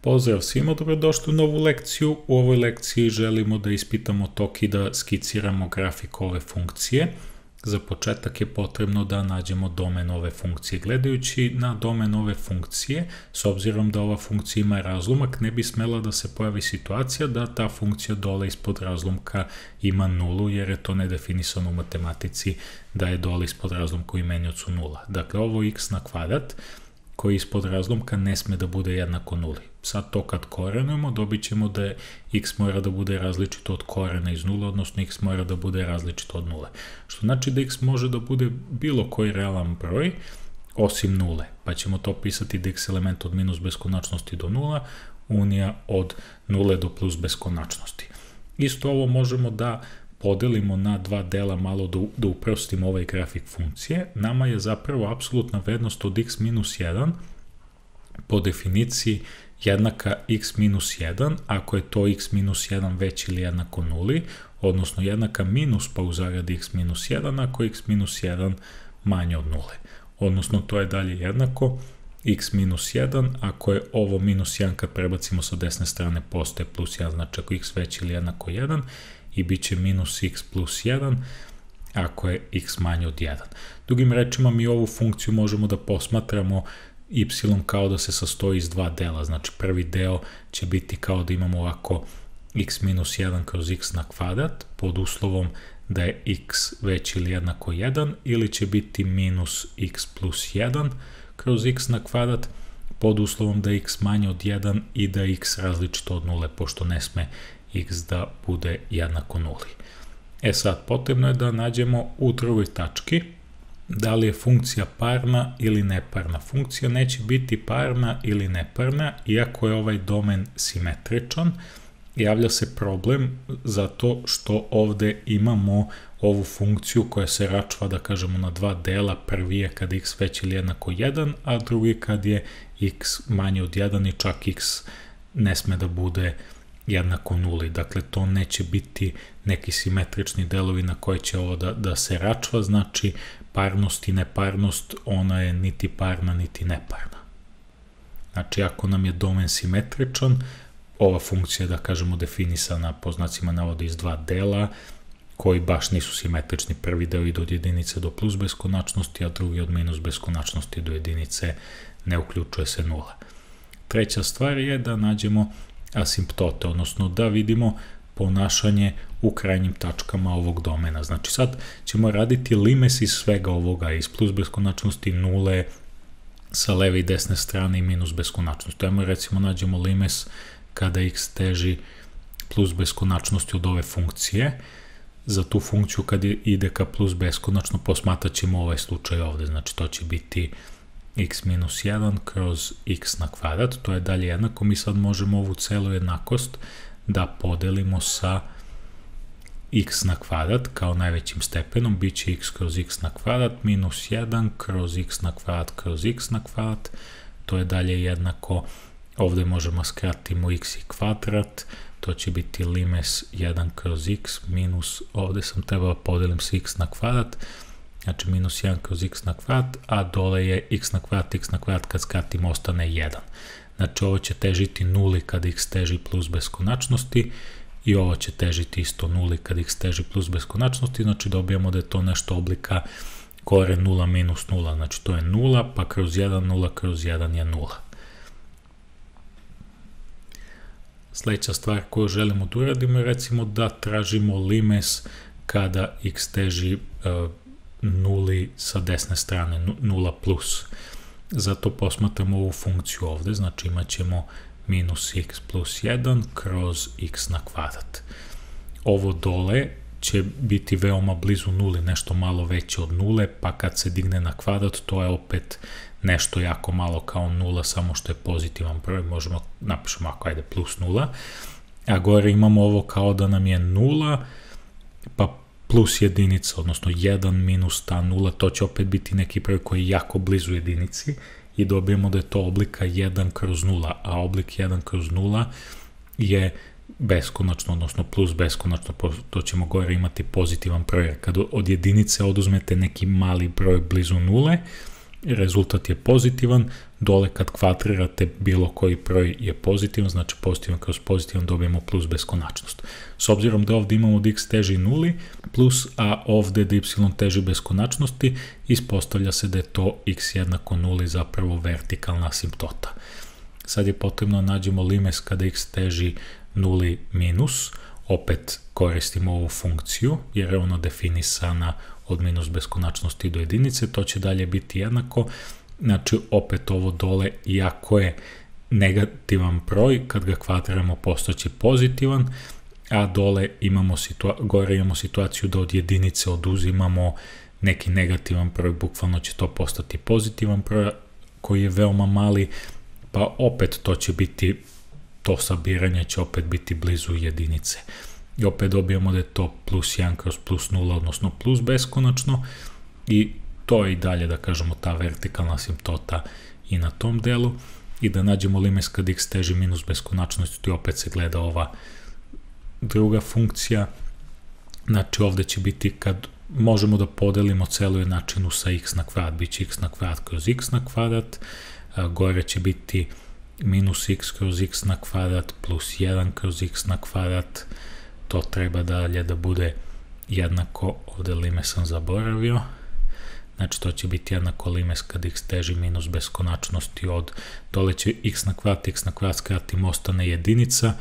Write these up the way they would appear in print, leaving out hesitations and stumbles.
Pozdrav svima, dobrodošli u novu lekciju. U ovoj lekciji želimo da ispitamo tok i da skiciramo grafik ove funkcije. Za početak je potrebno da nađemo domen ove funkcije. Gledajući na domen ove funkcije, s obzirom da ova funkcija ima razlomak, ne bi smela da se pojavi situacija da ta funkcija dole ispod razlomka ima nulu, jer je to nedefinisano u matematici da je dole ispod razlomka u imeniocu nula. Dakle, ovo x na kvadrat koji ispod razlomka ne sme da bude jednako nuli. Sad to kad korenujemo, dobit ćemo da x mora da bude različito od korena iz nula, odnosno x mora da bude različito od nule. Što znači da x može da bude bilo koji realan broj, osim nule. Pa ćemo to pisati da x element od minus beskonačnosti do nula, unija od nule do plus beskonačnosti. Isto ovo možemo da podelimo na dva dela, malo da uprostimo ovaj grafik funkcije. Nama je zapravo apsolutna vrednost od x minus 1 po definiciji jednaka x minus 1, ako je to x minus 1 veći ili jednako nuli, odnosno jednaka minus pa u zaradi x minus 1, ako je x minus 1 manje od nule. Odnosno to je dalje jednako x minus 1, ako je ovo minus 1 kad prebacimo sa desne strane postaje plus 1, znači ako x veći ili jednako 1, i bit će minus x plus 1 ako je x manje od 1. Drugim rečima, mi ovu funkciju možemo da posmatramo y kao da se sastoji iz dva dela. Znači, prvi deo će biti kao da imamo ovako x minus 1 kroz x na kvadrat, pod uslovom da je x veći ili jednako 1, ili će biti minus x plus 1 kroz x na kvadrat, pod uslovom da je x manje od 1 i da je x različito od nule, pošto ne sme x da bude jednako nuli. Sad, potrebno je da nađemo u drugoj tački da li je funkcija parna ili neparna. Funkcija neće biti parna ili neparna, iako je ovaj domen simetričan. Javlja se problem zato što ovde imamo ovu funkciju koja se račva, da kažemo, na dva dela. Prvi je kad x veći ili jednako 1, a drugi kad je x manje od 1 i čak x ne sme da bude jednako nuli. Dakle, to neće biti neki simetrični delovi na koje će ovo da se račva, znači parnost i neparnost, ona je niti parna niti neparna. Znači, ako nam je domen simetričan, ova funkcija je, da kažemo, definisana po znacima navoda iz dva dela, koji baš nisu simetrični. Prvi deo ide od jedinice do plus beskonačnosti, a drugi od minus beskonačnosti do jedinice, ne uključuje se nula. Treća stvar je da nađemo asimptote, odnosno da vidimo ponašanje u krajnjim tačkama ovog domena. Znači sad ćemo raditi limes iz svega ovoga, iz plus beskonačnosti, nule, sa leve i desne strane i minus beskonačnosti. Ajmo recimo nađemo limes kada x teži plus beskonačnosti od ove funkcije. Za tu funkciju kad ide ka plus beskonačno posmatrat ćemo ovaj slučaj ovde, znači to će biti x minus 1 kroz x na kvadrat, to je dalje jednako. Mi sad možemo ovu celu jednakost da podelimo sa x na kvadrat kao najvećim stepenom, bit će x kroz x na kvadrat minus 1 kroz x na kvadrat kroz x na kvadrat, to je dalje jednako, ovde možemo skratimo x i kvadrat, to će biti limes 1 kroz x minus, ovde sam trebao podelim sa x na kvadrat, znači minus 1 kroz x na kvadrat, a dole je x na kvadrat kad skratimo ostane 1. Znači ovo će težiti nuli kad x teži plus beskonačnosti i ovo će težiti isto nuli kad x teži plus beskonačnosti, znači dobijamo da je to nešto oblika koren 0 minus 0, znači to je 0, pa kroz 1, 0 kroz 1 je 0. Sledeća stvar koju želimo da uradimo je recimo da tražimo limes kada x teži nuli sa desne strane, 0 plus. Zato posmatramo ovu funkciju ovde, znači imat ćemo minus x plus 1 kroz x na kvadrat. Ovo dole će biti veoma blizu nuli, nešto malo veće od nule, pa kad se digne na kvadrat, to je opet nešto jako malo kao nula, samo što je pozitivan broj, možemo napišemo ako ajde plus nula, a gore imamo ovo kao da nam je nula, pa plus jedinica, odnosno 1 minus ta nula, to će opet biti neki broj koji je jako blizu jedinici i dobijemo da je to oblika 1 kroz 0, a oblik 1 kroz 0 je beskonačno, odnosno plus beskonačno, to ćemo gore imati pozitivan broj. Kad od jedinice oduzmete neki mali broj blizu nule, rezultat je pozitivan, dole kad kvadrirate bilo koji broj je pozitivan, znači pozitivan kroz pozitivan dobijemo plus beskonačnost. S obzirom da ovdje imamo da x teži nuli plus, a ovdje da y teži beskonačnosti, ispostavlja se da je to x jednako nuli zapravo vertikalna asimptota. Sad je potrebno da nađemo limes kada x teži nuli minus, opet koristimo ovu funkciju jer je ona definisana od minus beskonačnosti do jedinice, to će dalje biti jednako, znači opet ovo dole, iako je negativan broj, kad ga kvadriramo postaće pozitivan, a dole gore imamo situaciju da od jedinice oduzimamo neki negativan broj, bukvalno će to postati pozitivan broj koji je veoma mali, pa opet to će biti, to sabiranje će opet biti blizu jedinice. I opet dobijamo da je to plus 1 kroz plus 0, odnosno plus beskonačno, i to je i dalje, da kažemo, ta vertikalna asimptota i na tom delu. I da nađemo limes kad x teži minus beskonačnosti, opet se gleda ova druga funkcija. Znači ovdje će biti, kad možemo da podelimo celu jednačinu sa x na kvadrat, bit će x na kvadrat kroz x na kvadrat, gore će biti minus x kroz x na kvadrat plus 1 kroz x na kvadrat, to treba dalje da bude jednako, ovdje limes sam zaboravio, znači to će biti jednako limes kad x teži minus beskonačnosti od, dole će x na kvadrat skratimo, ostane jedinica,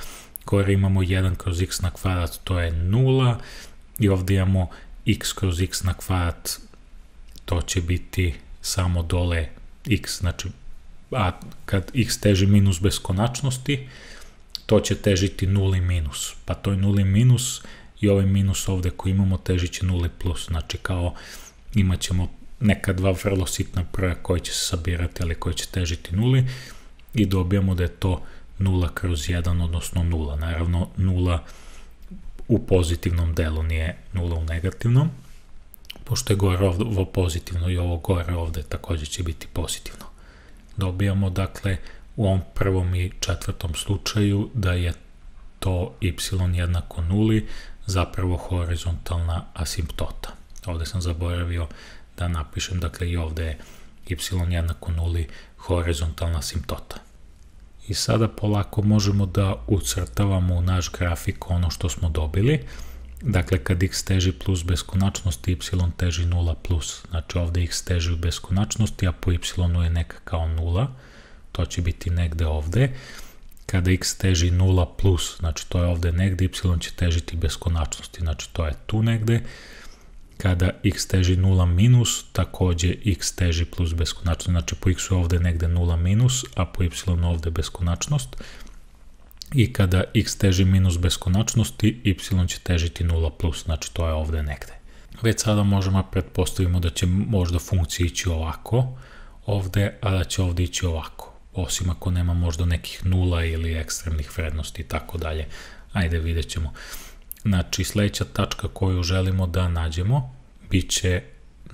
gore imamo 1 kroz x na kvadrat, to je 0, i ovdje imamo x kroz x na kvadrat, to će biti samo dole x, znači, a kad x teži minus beskonačnosti, to će težiti nuli minus, pa to je nuli minus i ovaj minus ovdje koji imamo težit će nuli plus, znači kao imat ćemo neka dva vrlo sitna broja koji će se sabirati, ali koji će težiti nuli, i dobijamo da je to 0 kroz 1, odnosno 0. Naravno 0 u pozitivnom delu, nije 0 u negativnom, pošto je gore ovo pozitivno i ovo gore ovdje također će biti pozitivno. Dobijamo dakle u ovom prvom i četvrtom slučaju da je to y jednako nuli, zapravo horizontalna asimptota. Ovdje sam zaboravio da napišem, dakle i ovdje je y jednako nuli, horizontalna asimptota. I sada polako možemo da ucrtavamo u naš grafik ono što smo dobili. Dakle, kad x teži plus beskonačnosti, y teži 0 plus. Znači ovdje x teži u beskonačnosti, a po y je neka kao 0. To će biti negde ovdje. Kada x teži 0 plus, znači to je ovdje negde, y će težiti beskonačnosti, znači to je tu negde. Kada x teži 0 minus, također x teži plus beskonačnost, znači po x je ovdje negde 0 minus, a po y ovdje beskonačnost. I kada x teži minus beskonačnosti, y će težiti 0 plus, znači to je ovdje negde. Već sada možemo pretpostavimo da će možda funkcija ići ovako ovdje, a da će ovdje ići ovako, osim ako nema možda nekih nula ili ekstremnih vrednosti i tako dalje. Ajde, vidjet ćemo. Znači, sljedeća tačka koju želimo da nađemo bit će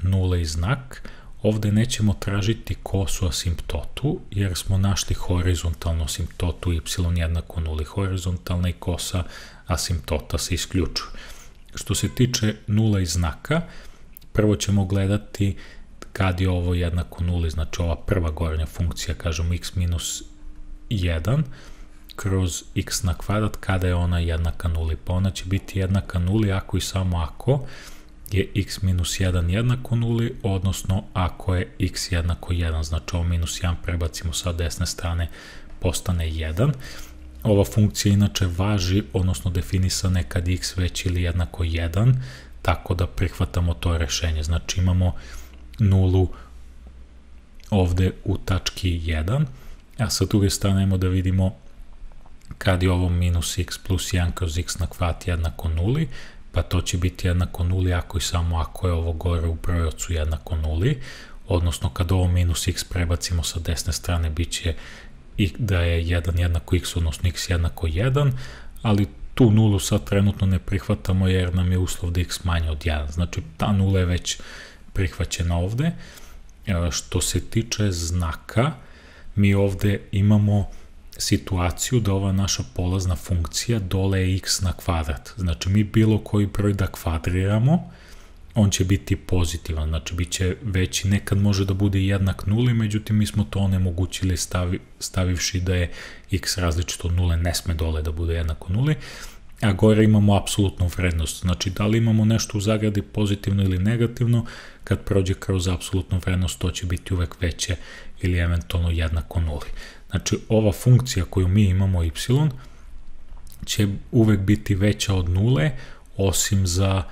nula i znak. Ovdje nećemo tražiti kosu asimptotu, jer smo našli horizontalnu asimptotu y jednako nuli. Horizontalna i kosa asimptota se isključuju. Što se tiče nula i znaka, prvo ćemo gledati kad je ovo jednako nuli, znači ova prva gornja funkcija, kažemo x minus 1, kroz x na kvadrat, kada je ona jednaka nuli, pa ona će biti jednaka nuli ako i samo ako je x minus 1 jednako nuli, odnosno ako je x jednako 1, znači ovo minus 1 prebacimo sa desne strane, postane 1. Ova funkcija inače važi, odnosno definisana je kad je x veći ili jednako 1, tako da prihvatamo to rešenje, znači imamo nulu ovdje u tački 1, a sa druge strane imamo da vidimo kad je ovo minus x plus 1 kroz x na kvadrat jednako nuli, pa to će biti jednako nuli ako i samo ako je ovo gore u brojevcu jednako nuli, odnosno kad ovo minus x prebacimo sa desne strane bit će da je 1 jednako x, odnosno x jednako 1, ali tu nulu sad trenutno ne prihvatamo jer nam je uslov da x manje od 1, znači ta nula je već prihvaćena ovdje. Što se tiče znaka, mi ovdje imamo situaciju da ova naša polazna funkcija dole je x na kvadrat. Znači mi bilo koji broj da kvadriramo, on će biti pozitivan, znači bit će veći, nekad može da bude jednak nuli, međutim mi smo to onemogućili stavivši da je x različito od nule, ne sme dole da bude jednako nuli, a gore imamo apsolutnu vrednost, znači da li imamo nešto u zagradi pozitivno ili negativno, kad prođe kroz apsolutnu vrednost to će biti uvek veće ili eventualno jednako nuli. Znači ova funkcija koju mi imamo y će uvek biti veća od nule, osim za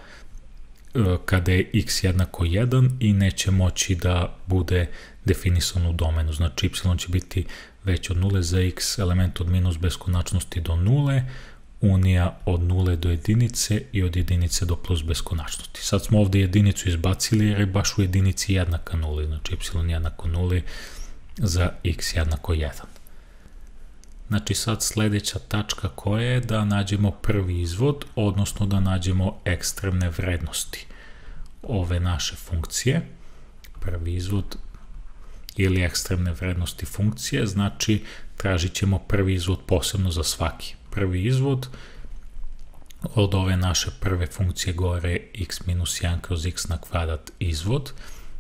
kada je x jednako 1 i neće moći da bude definisan u domenu. Znači y će biti veće od nule za x element od minus beskonačnosti do nule, unija od nule do jedinice i od jedinice do plus beskonačnosti. Sad smo ovde jedinicu izbacili jer je baš u jedinici jednaka nuli, znači y jednako nuli za x jednako 1. Znači sad sledeća tačka koja je da nađemo prvi izvod, odnosno da nađemo ekstremne vrednosti ove naše funkcije. Prvi izvod ili ekstremne vrednosti funkcije, znači tražit ćemo prvi izvod posebno za svaki. Prvi izvod od ove naše prve funkcije gore x minus 1 kroz x na kvadrat izvod,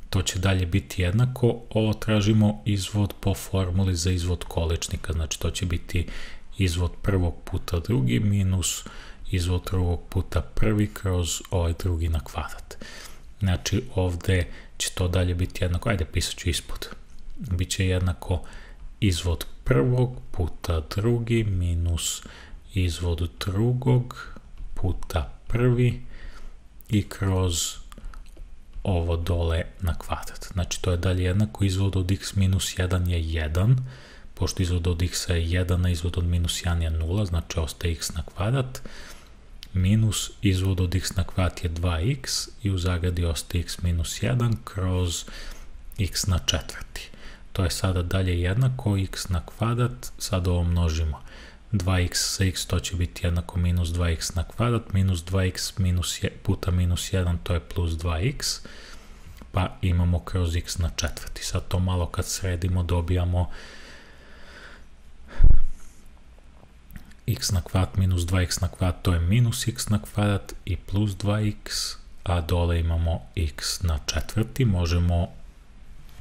to će dalje biti jednako, ovo tražimo izvod po formuli za izvod količnika, znači to će biti izvod prvog puta drugi minus izvod drugog puta prvi kroz ovaj drugi na kvadrat. Znači ovde će to dalje biti jednako, ajde pisat ću ispod, biće jednako izvod prvog puta drugi minus izvod drugog puta prvi i kroz ovo dole na kvadrat. Znači to je dalje jednako, izvod od x minus 1 je 1, pošto izvod od x je 1, a izvod od minus 1 je 0, znači ostaje x na kvadrat, minus izvod od x na kvadrat je 2x i u zagradi ostaje x minus 1 kroz x na četvrti. To je sada dalje jednako, x na kvadrat, sad ovo množimo. 2x sa x to će biti jednako minus 2x na kvadrat, minus 2x puta minus 1 to je plus 2x, pa imamo kroz x na četvrti. Sad to malo kad sredimo dobijamo x na kvadrat minus 2x na kvadrat to je minus x na kvadrat i plus 2x, a dole imamo x na četvrti, možemo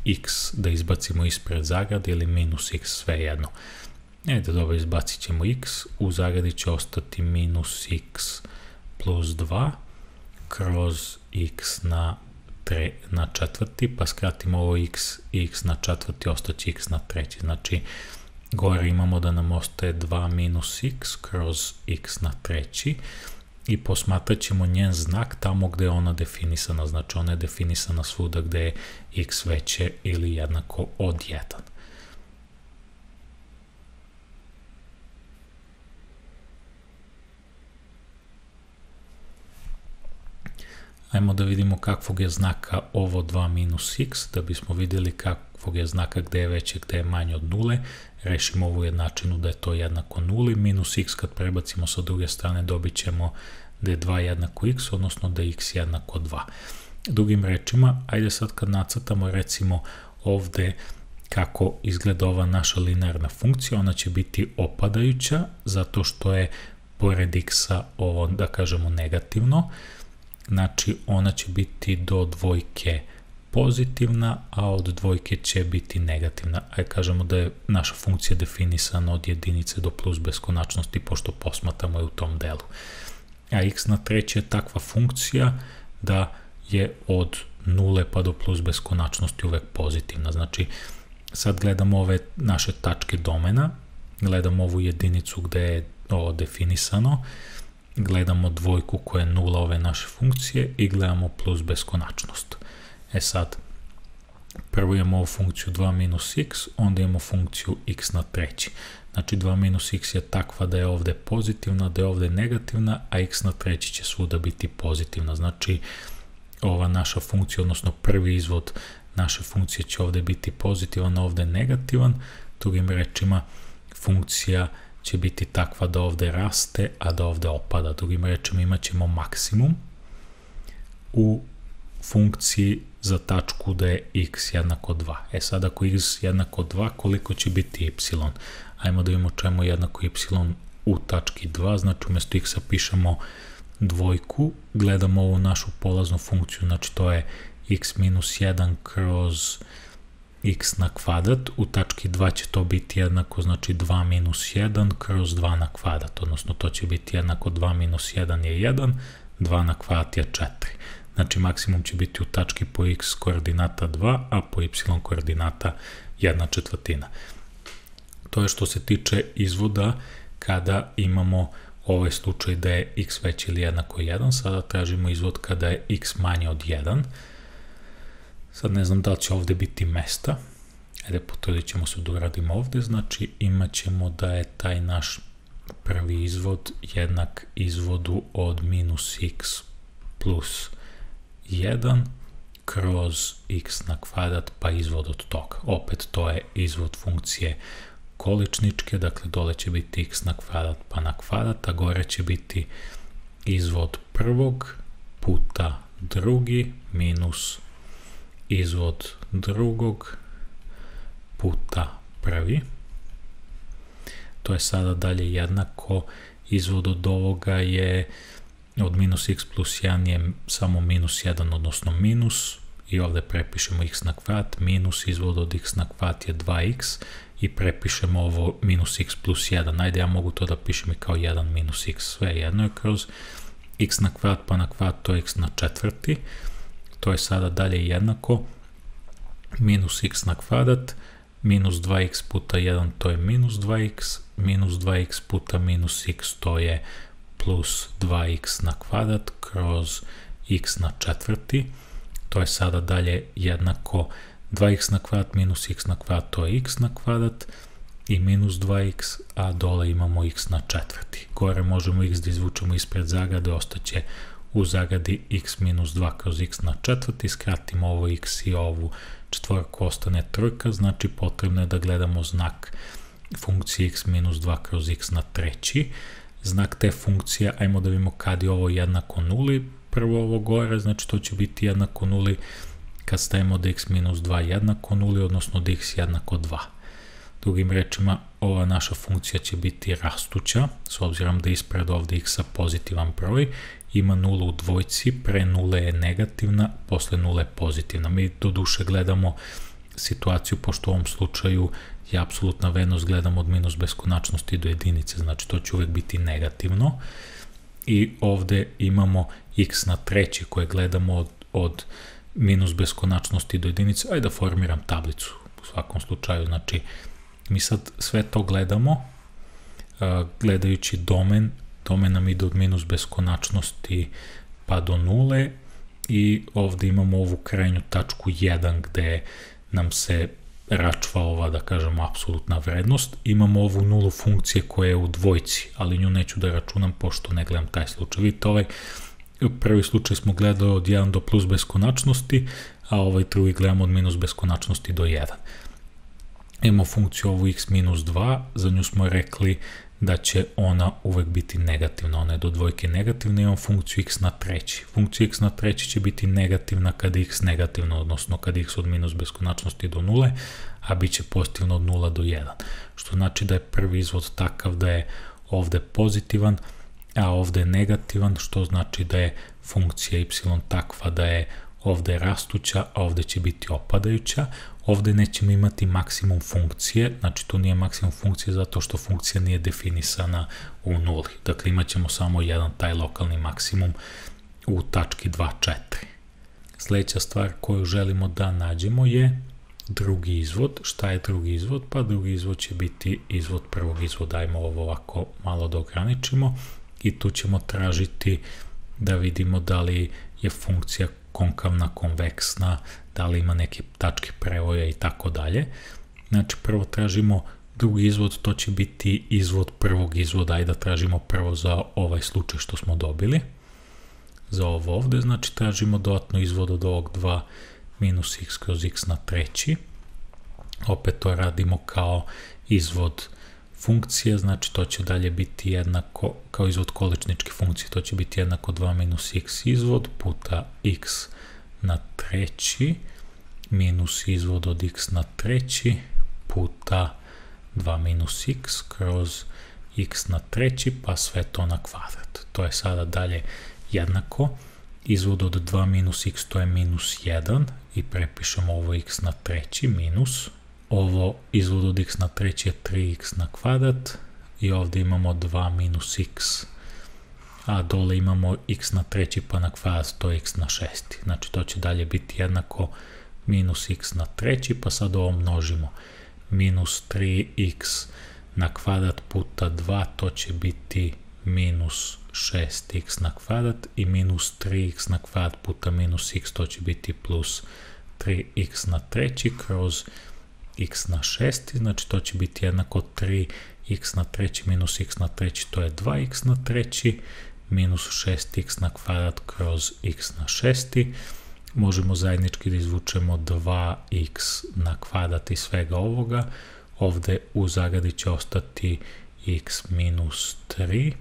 x da izbacimo ispred zagrade ili minus x, sve jedno. Ajde, dobro, izbacit ćemo x, u zagradi će ostati minus x plus 2 kroz x na četvrti, pa skratimo ovo x i x na četvrti, ostaće x na treći. Znači, gore imamo da nam ostaje 2 minus x kroz x na treći i posmatrat ćemo njen znak tamo gde je ona definisana, znači ona je definisana svuda gde je x veće ili jednako od 1. Ajmo da vidimo kakvog je znaka ovo 2 minus x, da bismo vidjeli kakvog je znaka gde je veće, gde je manje od nule. Rešimo ovu jednačinu da je to jednako nuli, minus x kad prebacimo sa druge strane dobit ćemo da je 2 jednako x, odnosno da je x jednako 2. Drugim rečima, ajde sad kad nacrtamo recimo ovde kako izgleda ova naša linearna funkcija, ona će biti opadajuća zato što je pored x-a ovo, da kažemo, negativno. Znači, ona će biti do dvojke pozitivna, a od dvojke će biti negativna. Ajde kažemo da je naša funkcija definisana od jedinice do plus beskonačnosti, pošto posmatramo je u tom delu. A x na treći je takva funkcija da je od nule pa do plus beskonačnosti uvek pozitivna. Znači, sad gledamo ove naše tačke domena, gledamo ovu jedinicu gde je ovo definisano, gledamo dvojku koja je nula ove naše funkcije i gledamo plus beskonačnost. E sad, prvo imamo ovu funkciju 2 minus x, onda imamo funkciju x na treći. Znači 2 minus x je takva da je ovde pozitivna, da je ovde negativna, a x na treći će svuda biti pozitivna. Znači ova naša funkcija, odnosno prvi izvod naše funkcije će ovde biti pozitivan, a ovde negativan. Drugim rečima, funkcija će biti takva da ovde raste, a da ovde opada. Drugim rečima, imat ćemo maksimum u funkciji za tačku da je x jednako 2. E sad, ako x jednako 2, koliko će biti y? Ajmo da vidimo čemu jednako y u tački 2, znači umjesto x-a pišemo dvojku, gledamo ovu našu polaznu funkciju, znači to je x minus 1 kroz x na kvadrat, u tački 2 će to biti jednako, znači 2 minus 1 kroz 2 na kvadrat, odnosno to će biti jednako 2 minus 1 je 1, 2 na kvadrat je 4. Znači maksimum će biti u tački po x koordinata 2, a po y koordinata 1/4. To je što se tiče izvoda kada imamo ovaj slučaj da je x veći ili jednako 1, sada tražimo izvod kada je x manje od 1. Sad ne znam da li će ovde biti mesta, ajde potrudit ćemo se da uradimo ovde, znači imat ćemo da je taj naš prvi izvod jednak izvodu od minus x plus 1 kroz x na kvadrat pa izvod od toga. Opet to je izvod funkcije količničke, dakle dole će biti x na kvadrat pa na kvadrat, a gore će biti izvod prvog puta drugi minus izvod drugog puta prvi. To je sada dalje jednako, izvod od ovoga je od minus x plus 1 je samo minus 1, odnosno minus, i ovde prepišemo x na kvadrat, minus izvod od x na kvadrat je 2x i prepišemo ovo minus x plus 1. Ajde, ja mogu to da pišem i kao 1 minus x, sve jedno je kroz x na kvadrat pa na kvadrat, to je x na četvrti. To je sada dalje jednako minus x na kvadrat, minus 2x puta 1, to je minus 2x, minus 2x puta minus x, to je plus 2x na kvadrat kroz x na četvrti. To je sada dalje jednako 2x na kvadrat minus x na kvadrat, to je x na kvadrat i minus 2x, a dole imamo x na četvrti. Gore možemo x da izvučemo ispred zagrade, ostaće u zagradi x minus 2 kroz x na četvrti, skratimo ovo x i ovu četvorku, ostane trojka, znači potrebno je da gledamo znak funkcije x minus 2 kroz x na treći. Znak te funkcije, ajmo da vidimo kad je ovo jednako nuli, prvo ovo gore, znači to će biti jednako nuli kad stavimo da x minus 2 jednako nuli, odnosno da x jednako 2. Drugim rečima, ova naša funkcija će biti rastuća, s obzirom da ispred ovde x-a pozitivan broj, ima nulu u dvojci, pre nule je negativna, posle nule je pozitivna. Mi do duše gledamo situaciju, pošto u ovom slučaju je apsolutna vrednost, gledamo od minus beskonačnosti do jedinice, znači to će uvek biti negativno. I ovde imamo x na treći koje gledamo od minus beskonačnosti do jedinice. Ajde da formiram tablicu u svakom slučaju, znači mi sad sve to gledamo, gledajući domen nam ide od minus beskonačnosti pa do nule i ovde imamo ovu krajnju tačku 1 gde nam se račva ova, da kažemo, apsolutna vrednost. Imamo ovu nulu funkcije koja je u dvojci, ali nju neću da računam pošto ne gledam taj slučaj. Vidite, ovaj prvi slučaj smo gledali od 1 do plus beskonačnosti, a ovaj drugi gledamo od minus beskonačnosti do 1. Imamo funkciju ovu x minus 2, za nju smo rekli da će ona uvek biti negativna, ona je do dvojke negativna, imamo funkciju x na treći. Funkcija x na treći će biti negativna kada je x negativno, odnosno kada je x od minus beskonačnosti do nule, a bit će pozitivno od 0 do 1. Što znači da je prvi izvod takav da je ovde pozitivan, a ovde je negativan, što znači da je funkcija y takva da je ovde rastuća, a ovde će biti opadajuća. Ovde nećemo imati maksimum funkcije, znači tu nije maksimum funkcije zato što funkcija nije definisana u nuli. Dakle, imat ćemo samo jedan taj lokalni maksimum u tački 2,4. Sledeća stvar koju želimo da nađemo je drugi izvod. Šta je drugi izvod? Pa drugi izvod će biti izvod prvog izvoda. Ajmo ovo ovako malo da ograničimo i tu ćemo tražiti da vidimo da li je funkcija konkavna, konveksna, da li ima neke tačke prevoja i tako dalje. Znači, prvo tražimo drugi izvod, to će biti izvod prvog izvoda, ajde da tražimo prvo za ovaj slučaj što smo dobili. Za ovo ovde, znači tražimo dodatno izvod od ovog 2 minus x kroz x na treći. Opet to radimo kao izvod funkcije, znači to će dalje biti jednako, kao izvod količničke funkcije, to će biti jednako 2 minus x izvod puta x na treći minus izvod od x na treći puta 2 minus x kroz x na treći pa sve to na kvadrat. To je sada dalje jednako, izvod od 2 minus x to je minus 1 i prepišemo ovo x na treći minus, ovo izvod od x na treći je 3x na kvadrat i ovdje imamo 2 minus x, a dole imamo x na treći pa na kvadrat to je x na šesti, znači to će dalje biti jednako minus x na treći, pa sad ovo množimo, minus 3x na kvadrat puta 2, to će biti minus 6x na kvadrat i minus 3x na kvadrat puta minus x, to će biti plus 3x na treći kroz x na šesti, znači to će biti jednako 3x na treći minus x na treći, to je 2x na treći, minus 6x na kvadrat kroz x na šesti, možemo zajednički da izvučemo 2x na kvadrat i svega ovoga, ovdje u zagradi će ostati x minus 3,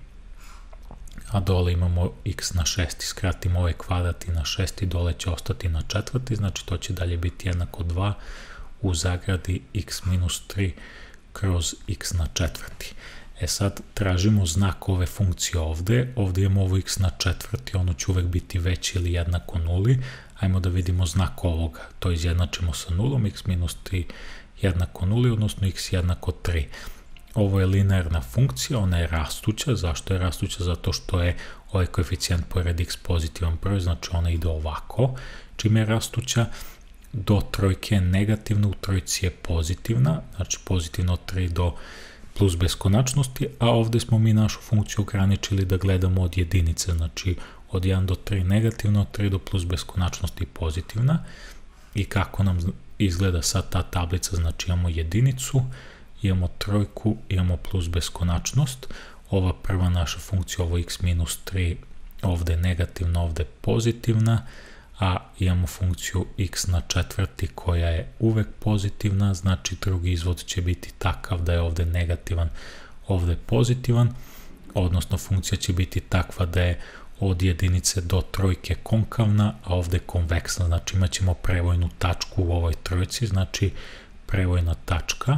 a dole imamo x na šesti, skratimo ovaj kvadrat i na šesti, dole će ostati na četvrti, znači to će dalje biti jednako 2 u zagradi x minus 3 kroz x na četvrti. E sad tražimo znak ove funkcije ovdje, ovdje imamo ovo x na četvrti, ono će uvek biti veći ili jednako nuli, ajmo da vidimo znak ovoga, to izjednačimo sa nulom, x minus 3 jednako nuli, odnosno x jednako 3. Ovo je linearna funkcija, ona je rastuća, zašto je rastuća? Zato što je ovaj koeficijent pored x pozitivan broj, znači ona ide ovako, čime je rastuća, do trojke je negativna, u trojci je pozitivna, znači pozitivno od 3 do plus beskonačnosti, a ovdje smo mi našu funkciju ograničili da gledamo od jedinice, znači od 1 do 3 negativna, od 3 do plus beskonačnosti pozitivna. I kako nam izgleda sad ta tablica, znači imamo jedinicu, imamo trojku, imamo plus beskonačnost, ova prva naša funkcija, ovo x minus 3, ovdje negativna, ovdje pozitivna, a imamo funkciju x na četvrti koja je uvek pozitivna, znači drugi izvod će biti takav da je ovdje negativan, ovdje pozitivan, odnosno funkcija će biti takva da je od jedinice do trojke konkavna, a ovdje konveksna, znači imat ćemo prevojnu tačku u ovoj trojci, znači prevojna tačka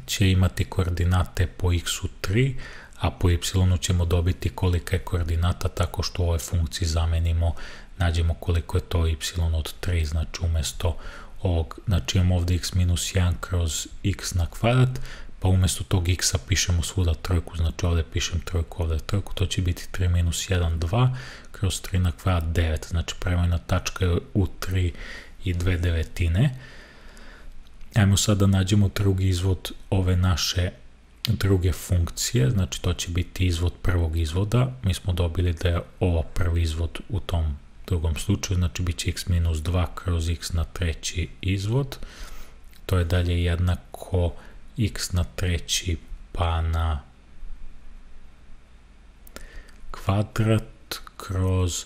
će imati koordinate po x-u 3, a po y ćemo dobiti kolika je koordinata tako što u ovoj funkciji zamenimo, nađemo koliko je to y od 3, znači umjesto ovog, znači imamo ovdje x minus 1 kroz x na kvadrat, pa umjesto tog x-a pišemo svuda trojku, znači ovdje pišem trojku, ovdje trojku, to će biti 3 minus 1, 2, kroz 3 na kvadrat 9, znači prevojna tačka je u 3 i 2 devetine. Ajmo sad da nađemo drugi izvod ove naše druge funkcije, znači to će biti izvod prvog izvoda, mi smo dobili da je ovo prvi izvod u tom drugom slučaju, znači bit će x minus 2 kroz x na treći izvod, to je dalje jednako x na treći pa na kvadrat kroz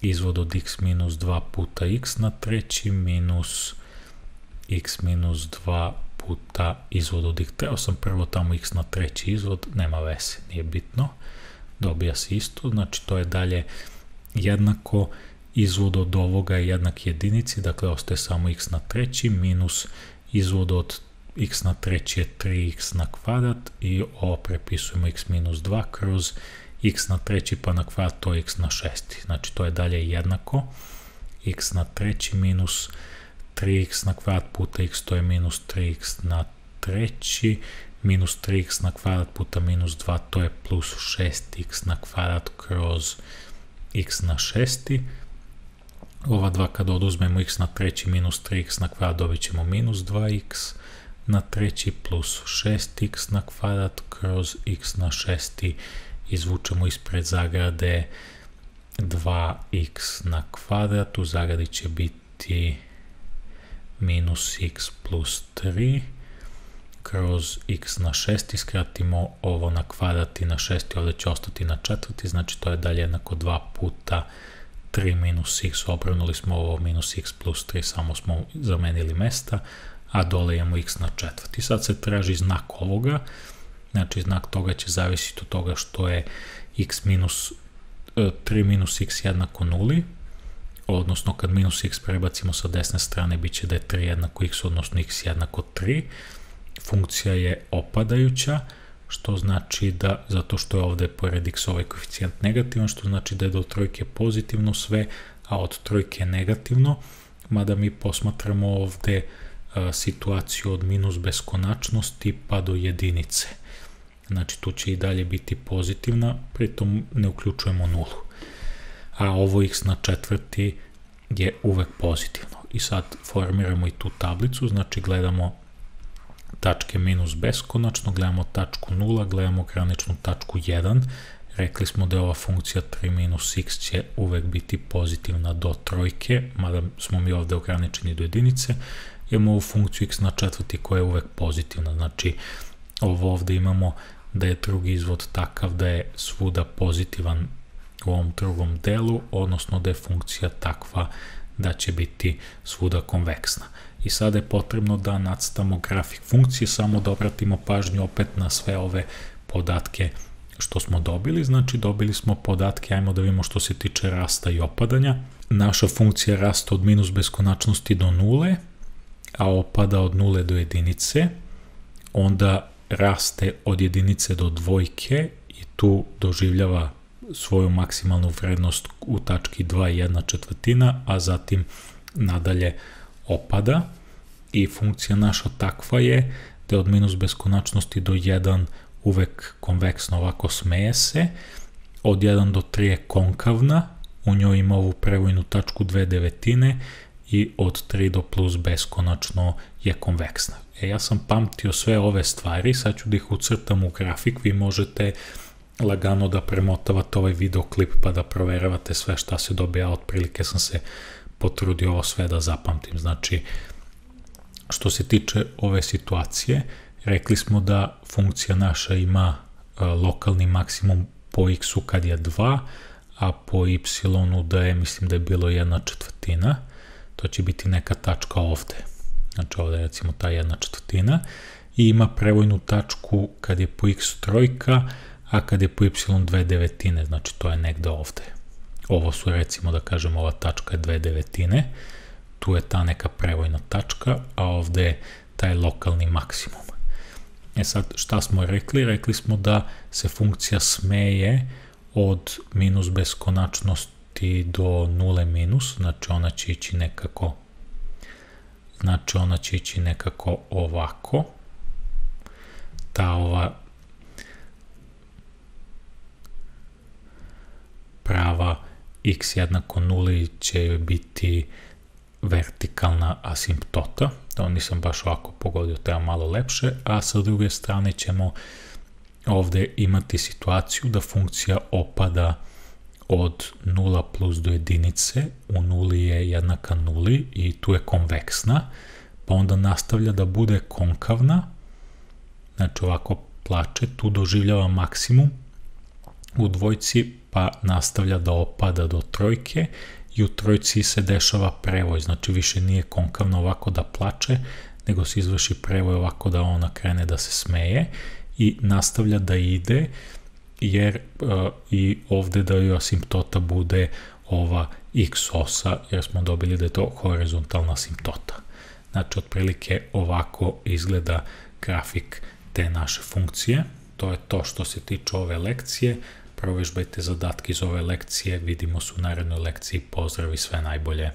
izvod od x minus 2 puta x na treći minus x minus 2 puta izvod od x. Trebao sam prvo tamo x na treći izvod, nema veze, nije bitno, dobija se isto, znači to je dalje jednako izvod od ovoga je jednak jedinici, dakle ostaje samo x na treći minus izvod od x na treći je 3x na kvadrat i ovo prepisujemo x minus 2 kroz x na treći pa na kvadrat, to je x na šesti, znači to je dalje jednako x na treći minus 3x na kvadrat puta x, to je minus 3x na treći, minus 3x na kvadrat puta minus 2, to je plus 6x na kvadrat kroz x na šesti. Ova dva kada oduzmemo x na treći minus 3x na kvadrat, dobit ćemo minus 2x na treći plus 6x na kvadrat kroz x na šesti, izvučemo ispred zagrade 2x na kvadrat, u zagradi će biti minus x plus 3 kroz x na šesti, skratimo ovo na kvadrat i na šesti, ovdje će ostati na četvrti, znači to je dalje jednako 2 puta 3 minus x, obrnuli smo ovo minus x plus 3, samo smo zamenili mesta, a dole imamo x na četvrti. Sad se traži znak ovoga, znači znak toga će zavisiti od toga što je x minus 3 minus x jednako nuli, odnosno kad minus x prebacimo sa desne strane bit će da je 3 jednako x, odnosno x jednako 3. Funkcija je opadajuća, što znači da, zato što je ovde pored x ovaj koeficijent negativan, što znači da je do trojke pozitivno sve, a od trojke negativno, mada mi posmatramo ovde situaciju od minus beskonačnosti pa do jedinice. Znači tu će i dalje biti pozitivna, pritom ne uključujemo nulu. A ovo x na četvrti je uvek pozitivno. I sad formiramo i tu tablicu, znači gledamo tačke minus beskonačno, gledamo tačku 0, gledamo graničnu tačku 1. Rekli smo da je ova funkcija 3 minus x će uvek biti pozitivna do trojke, mada smo mi ovde ograničeni do jedinice. Imamo ovu funkciju x na četvrti koja je uvek pozitivna, znači ovo ovde imamo da je drugi izvod takav da je svuda pozitivan u ovom drugom delu, odnosno da je funkcija takva da će biti svuda konveksna. I sada je potrebno da nacrtamo grafik funkcije, samo da obratimo pažnju opet na sve ove podatke što smo dobili. Znači dobili smo podatke, ajmo da vidimo što se tiče rasta i opadanja. Naša funkcija rasta od minus beskonačnosti do nule, a opada od nule do jedinice, onda raste od jedinice do dvojke i tu doživljava svoju maksimalnu vrednost u tački 2,1/4, a zatim nadalje opada i funkcija naša takva je da je od minus beskonačnosti do 1 uvek konveksno, ovako smeje se, od 1 do 3 je konkavna, u njoj ima ovu prevojnu tačku 2/9 i od 3 do plus beskonačno je konveksna. Ja sam pamtio sve ove stvari, sad ću da ih ucrtam u grafik, vi možete lagano da premotavate ovaj videoklip pa da proveravate sve šta se dobija, otprilike sam se potrudio ovo sve da zapamtim. Znači, što se tiče ove situacije, rekli smo da funkcija naša ima lokalni maksimum po x-u kad je 2, a po y-u da je, mislim da je bilo 1/4, to će biti neka tačka ovde. Znači ovde je recimo ta 1/4 i ima prevojnu tačku kad je po x trojka, a kad je po y 2/9, znači to je negde ovde. Ovo su recimo da kažemo ova tačka je 2/9, tu je ta neka prevojna tačka, a ovde je taj lokalni maksimum. E sad šta smo rekli? Rekli smo da se funkcija smeje od minus beskonačnosti do nule minus, znači ona će ići nekako ovako. Ta ova prava x jednako nuli će joj biti vertikalna asimptota, to nisam baš ovako pogodio, treba malo lepše, a sa druge strane ćemo ovde imati situaciju da funkcija opada od 0 plus do jedinice, u nuli je jednaka nuli i tu je konveksna, pa onda nastavlja da bude konkavna, znači ovako plače, tu doživljava maksimum u dvojci, pa nastavlja da opada do trojke i u trojci se dešava prevoj, znači više nije konkavno ovako da plače, nego se izvrši prevoj ovako da ona krene da se smeje i nastavlja da ide, jer i ovde da joj asimptota bude ova x osa, jer smo dobili da je to horizontalna asimptota. Znači, otprilike ovako izgleda grafik te naše funkcije. To je to što se tiče ove lekcije. Provežbajte zadatke iz ove lekcije, vidimo se u narednoj lekciji, pozdrav i sve najbolje.